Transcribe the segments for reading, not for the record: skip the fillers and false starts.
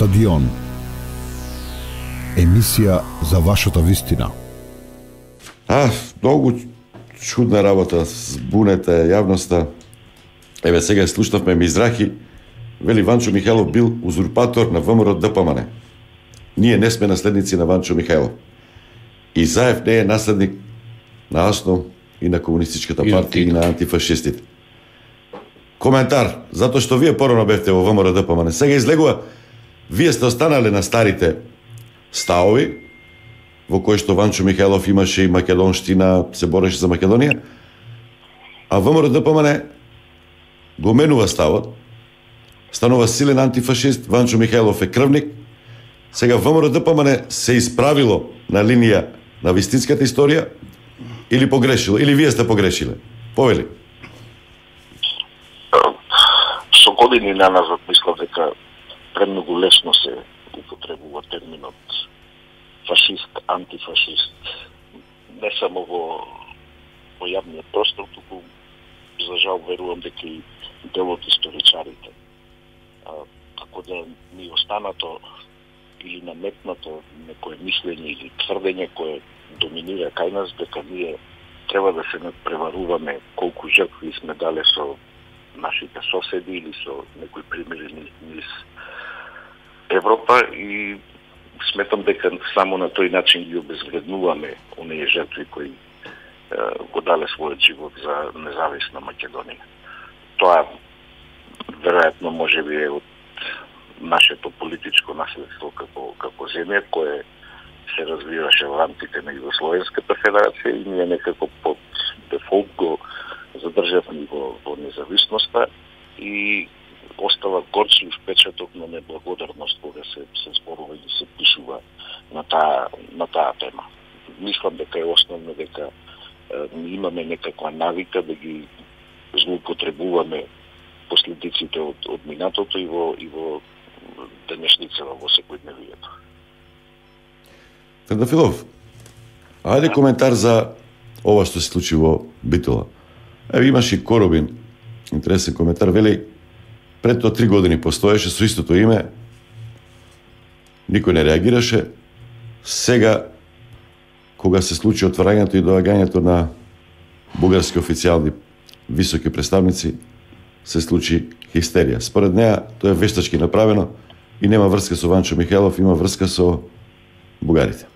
Стадион. Емисија за вашата вистина. Многу чудна работа, збунете јавноста. Еве сега слушнавме Мизрахи, вели Ванчо Михајлов бил узурпатор на ВМРО ДПМН. Ние не сме наследници на Ванчо Михајлов. И Заев не е наследник на АСНО и на Комунистичката партија и на антифашистите. Коментар, затоа што вие порано бевте во ВМРО ДПМН. Сега излегува, вие сте останале на старите ставови, во кои што Ванчо Михајлов имаше и македонштина, се бореше за Македонија, а ВМРО ДПМН го менува ставот, станува силен антифашист, Ванчо Михајлов е крвник. Сега ВМРО ДПМН се исправило на линија на вистинската историја или погрешило, или вие сте погрешиле? Повели. Со години наназад мислам дека премногу лесно се употребува терминот фашист, антифашист, не само во јавниот простор, туку за жал верувам дека и дел од историчарите. Како да ни останато или наметнато некое мислење или тврдење кое доминира кај нас, дека ние треба да се надпреваруваме колку жртви сме дале со нашите соседи или со некои примери низ Европа, и сметам дека само на тој начин ги обезвреднуваме оние жртви кои го дале својот живот за независна Македонија. Тоа веројатно можеби е од нашето политичко наследство како земја, кое се развиваше во рамките на Југословенската федерација, и ние некако под дефолт го задржавме во независноста и остава горчлив печаток на неблагодарност кога се зборува и се пишува на таа тема. Мислам дека е основно дека имаме некаква навика да ги злоупотребуваме последиците од минатото и во денешницава во секојдневието. Трендафилов, ајде коментар за ова што се случи во Битола. Еве имаш и Коробин, интересен коментар, вели пред тоа 3 години постоеше со истото име, никој не реагираше. Сега, кога се случи отварањето и доагањето на бугарски официјални високи представници, се случи хистерија. Според неа, тоа е вештачки направено и нема врска со Ванчо Михајлов, има врска со бугарите.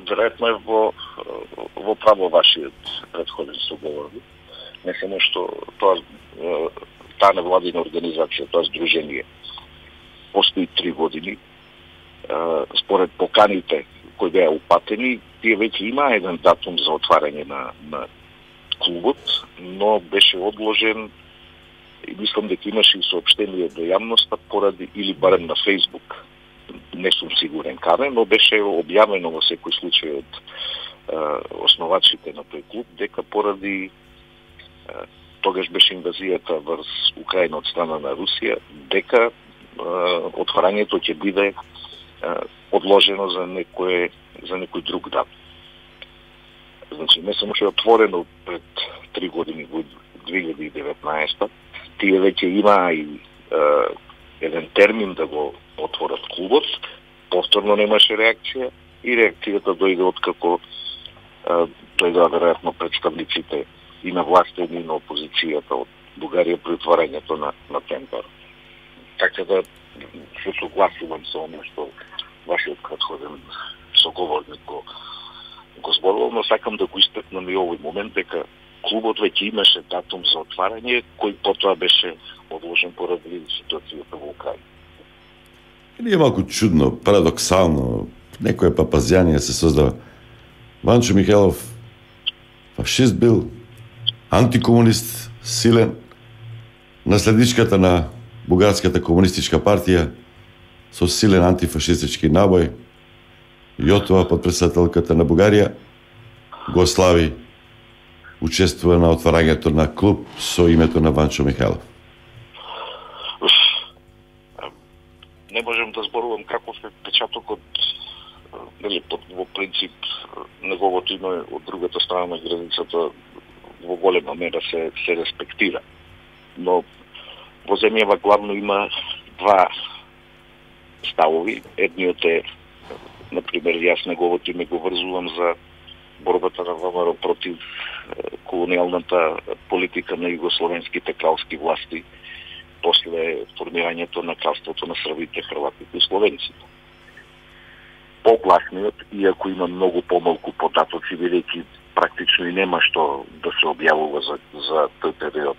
Веројатно е во право вашиот претходен соговорник. Не само што таа невладина организација, тоа здружение, постои 3 години. Според поканите кои беа упатени, тие веќе има еден датум за отварање на клубот, но беше одложен и мислам дека имаше и соопштение до јавноста поради, или барем на Facebook, не сум сигурен каде, но беше објавено во секој случај од основачите на тој клуб дека поради тогаш беше инвазијата врз Украина од страна на Русија, дека отварањето ќе биде одложено за некој друг датум. Значи, не само што е отворено пред 3 години во 2019, тие веќе има и еден термин да го отворат клубот, повторно немаше реакција и реакцијата дојде откако дојдоа веројатно представниците и на власта и на опозицијата од Бугарија при отварањето на тендер. Така да се согласувам со оно што вашиот претходен соговорник го зборувал, но сакам да го истакнам и овој момент дека клубот веќе имаше датум за отварање, кој потоа беше одложен поради ситуацијата во Украина. Или е малку чудно, парадоксално, некоја папазјанија се создава. Ванчо Михајлов фашист бил, антикомунист, силен, наследничката на Бугарската комунистичка партија со силен антифашистички набој, Јотова, подпредседателката на Бугарија, го слави, учествува на отварањето на клуб со името на Ванчо Михајлов. Не можем да зборувам каков е печатокот, во принцип неговото име од другата страна на границата во голема мера се респектира. Но во земјава главно има два ставови. Едниот е, например, јас неговото име го врзувам за борбата на ВМРО против колониалната политика на југословенските кралски власти после формирањето на кралството на србите, хрватите и словенците. Погласниот, иако има многу помалку податоци, бидејќи практично и нема што да се објавува за тој период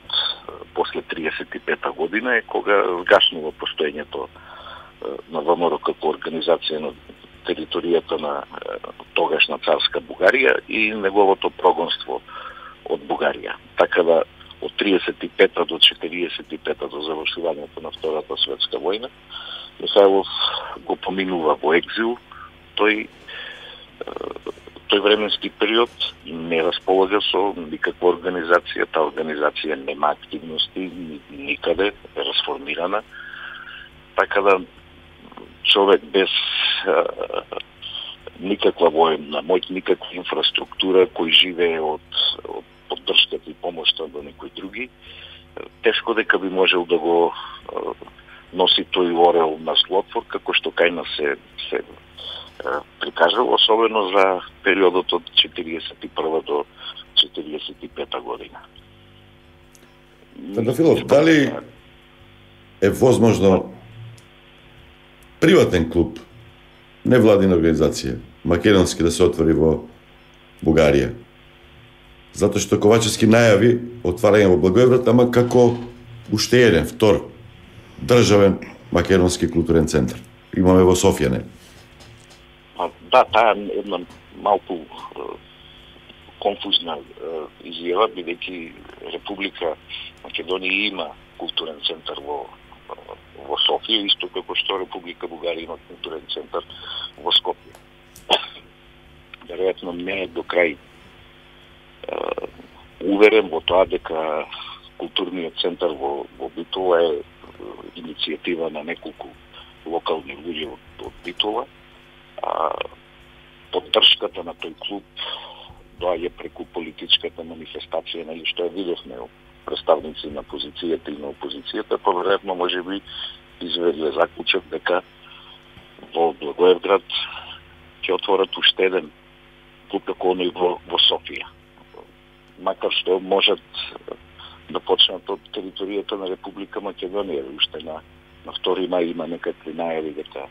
после 35-та година, е кога згашнува постоењето на ВМРО како организација на територијата на тогашна царска Бугарија и неговото прогонство од Бугарија. Така да од 35-та до 45-та до завршувањето на Втората светска војна, Михајлов го поминува во екзил. Тој временски период не располага со никаква организација, таа организација нема активности никаде, е расформирана. Така да човек без никаква военна моќ, никаква инфраструктура, кој живее од поддршката и помошта до некои други, тешко дека би можел да го носи тој орел на злотвор, како што кај нас се прикажал, особено за периодот од 41 до 45 година. Трандафилов, дали е возможно приватен клуб, невладина организација, македонски, да се отвори во Бугарија? Затоа што Ковачевски најави отварање во Благоевград, ама како уште еден, втор, државен македонски културен центар. Имаме во Софија, не? Да, таа е една малку конфузна изјава, бидејќи Република Македонија има културен центар во Софија, исто како што Република Бугарија има културен центар во Скопје. Веројатно не е до крај уверен во тоа дека културниот центар во Битола е иницијатива на неколку локални луѓе од Битола. Поддршката на тој клуб доаѓа преку политичката манифестација, нели, што ја видевме представници на позицијата и на опозицијата, поверојатно можеби изведле заклучок дека во Благоевград ќе отворат уште еден клуб како оној во Софија. Макар што можат да почнат од територијата на Република Македонија, уште на 2 мај има некакви најави дека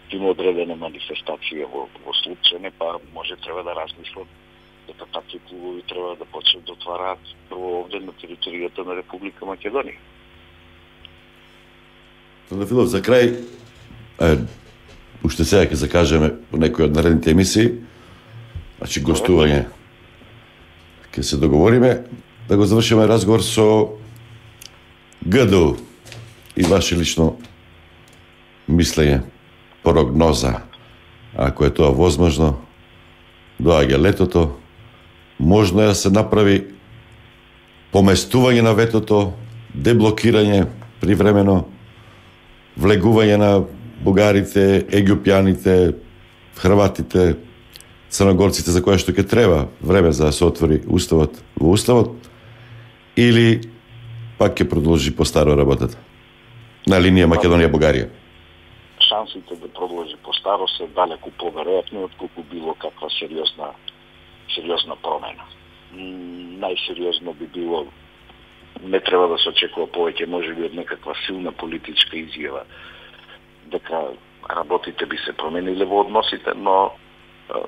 има одредена манифестација во Слупчене, па може треба да размислат дека такви клубови треба да почнат да отвараат прво овде на територијата на Република Македонија. Трандафилов, за крај, уште сега ќе закажеме по некои од наредните емисии, значи гостување, ќе се договориме да го завршиме разговор со ГДУ и ваше лично мислење, прогноза, ако е тоа возможно. Доаѓа летото, можно е да се направи поместување на ветото, деблокирање привремено, влегување на бугарите, егиопјаните, хрватите, црногорците, за која што ќе треба време за да се отвори уставот во уставот, или пак ќе продолжи по старо работата на линија Македонија-Бугарија? Шансите да продолжи по старо се далеку поверојатни отколку било каква сериозна промена. Најсериозно би било, не треба да се очекува повеќе, можеби од некаква силна политичка изјава дека работите би се промениле во односите, но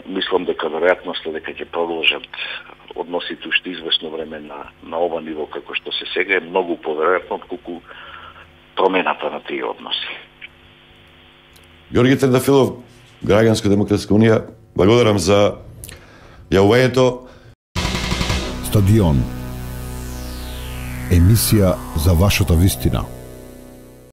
мислам дека веројатноста дека ќе продолжат односите уште известно време на ова ниво како што се сега е многу поверојатно отколку промената на тие односи. Ѓорѓе Трандафилов, Граѓанско-демократска унија, благодарам за јавувањето. Стадион. Емисија за вашата вистина.